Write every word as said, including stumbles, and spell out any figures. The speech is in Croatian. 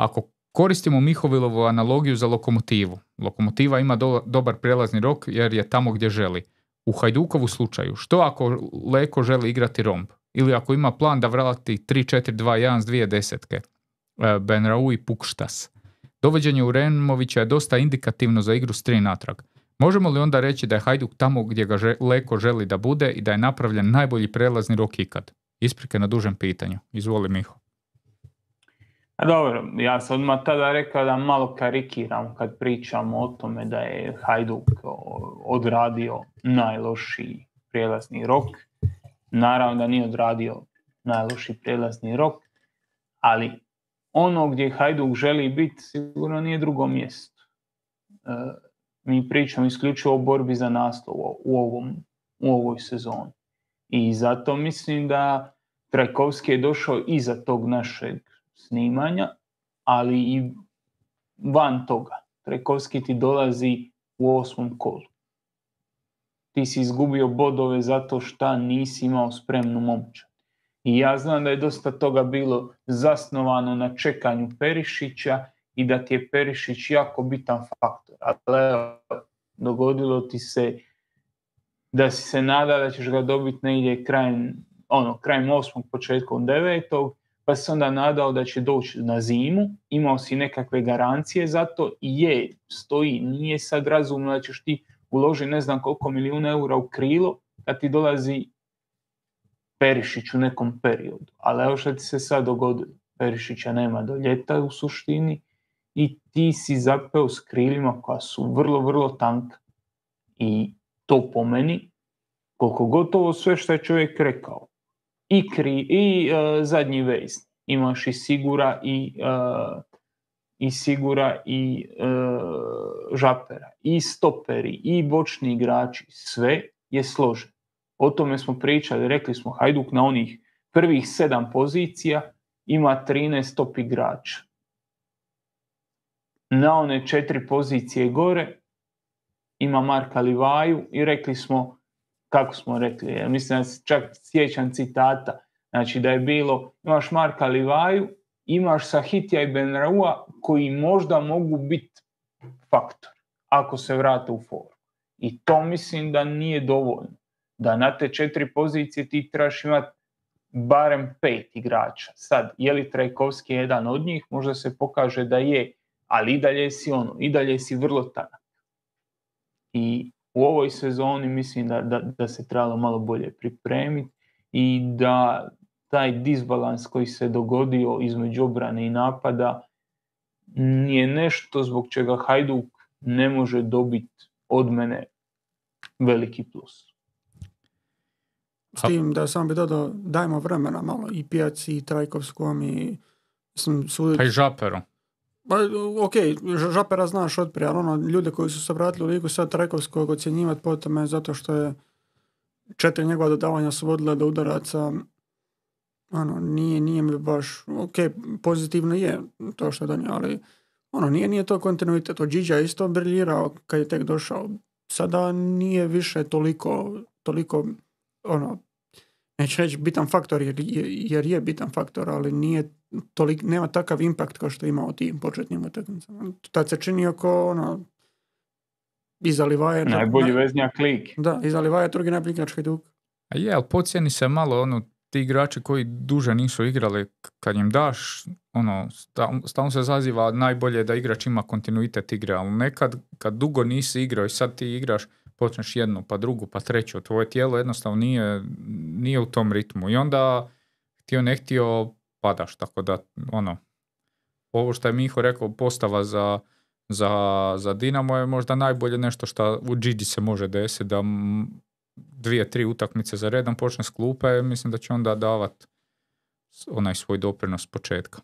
ako koristimo Mihovilovu analogiju za Lokomotivu, Lokomotiva ima do, dobar prelazni rok jer je tamo gdje želi. U Hajdukovu slučaju, što ako Leko želi igrati romb? Ili ako ima plan da vrati tri četiri dva jedan s dvije desetke, Benrau i Pukštas. Dovođenje Uremovića je dosta indikativno za igru s tri natrag. Možemo li onda reći da je Hajduk tamo gdje ga že, Leko želi da bude i da je napravljen najbolji prelazni rok ikad? Isprike na dužem pitanju. Izvoli, Miho. A dobro, ja sam odmah tada rekao da malo karikiram kad pričamo o tome da je Hajduk odradio najlošiji prijelazni rok. Naravno da nije odradio najlošiji prijelazni rok, ali ono gdje Hajduk želi biti sigurno nije drugo mjesto. E, mi pričamo isključivo o borbi za naslov u, ovom, u ovoj sezoni. I zato mislim da Trajkovski je došao iza tog našeg snimanja, ali i van toga. Trajkovski ti dolazi u osmom kolu. Ti si izgubio bodove zato što nisi imao spremnu momčad. I ja znam da je dosta toga bilo zasnovano na čekanju Perišića i da ti je Perišić jako bitan faktor. Ali dogodilo ti se da si se nada da ćeš ga dobiti negdje krajem, ono, krajem osmog, početkom devetog, pa si onda nadao da će doći na zimu, imao si nekakve garancije za to i je, stoji, nije sad razumno da ćeš ti uložiti ne znam koliko milijuna eura u krilo kad ti dolazi Perišić u nekom periodu. Ali evo što ti se sad dogodilo. Perišića nema do ljeta u suštini i ti si zapeo s krilima koja su vrlo, vrlo tanka. I to po meni, koliko gotovo sve što je čovjek rekao, i, kri, i uh, zadnji vez, imaš i Sigura i, uh, i Sigura i uh, Žapera, i stoperi, i bočni igrači, sve je složeno. O tome smo pričali, rekli smo Hajduk na onih prvih sedam pozicija ima trinaest top igrača. Na one četiri pozicije gore ima Marka Livaju i rekli smo, kako smo rekli, ja mislim da se čak sjećam citata, znači da je bilo, imaš Marka Livaju, imaš Sahitija i Benraua koji možda mogu biti faktor ako se vrate u formu. I to mislim da nije dovoljno. Da na te četiri pozicije ti trebaš imati barem pet igrača. Sad, je li Trajkovski jedan od njih? Možda se pokaže da je, ali i dalje si ono, i dalje si vrlo tanak. I u ovoj sezoni mislim da, da, da se trebalo malo bolje pripremiti i da taj disbalans koji se dogodio između obrane i napada nije nešto zbog čega Hajduk ne može dobiti od mene veliki plus. S tim da sam bi dodao, dajmo vremena malo i Pijaci i Trajkovskom i mislim, sud... pa i Žaperu. Pa, ok, Žapera znaš otprije, ali ono, ljude koji su se vratili u ligu sad Trajkovskog ocjenjivati po tome zato što je četiri njegova dodavanja su vodila do udaraca, ono, nije, nije mi baš, ok, pozitivno je to što je donio, ali ono, nije, nije to kontinuitet. Džiđa je isto briljirao kad je tek došao. Sada nije više toliko, toliko ono, neću reći bitan faktor jer je, jer je bitan faktor, ali nije tolik, nema takav impakt kao što je imao tim početnim utakmicama. Tad se čini oko ono, iza Livaje... Najbolji veznjak lig. Da, iza Livaje drugi najbolji igrač Hajduk. A je, ali pocijeni se malo ono, ti igrači koji duže nisu igrali, kad im daš, ono, stalno se zaziva najbolje da igrač ima kontinuitet igre, ali nekad kad dugo nisi igrao i sad ti igraš, počneš jednu, pa drugu, pa treću, tvoje tijelo jednostavno nije, nije u tom ritmu i onda htio ne htio padaš, tako da ono, ovo što je Miho rekao, postava za, za, za Dinamo je možda najbolje nešto što u Gigi se može desiti, da dvije, tri utakmice za redom počne s klupe, mislim da će onda davat onaj svoj doprinos s početka.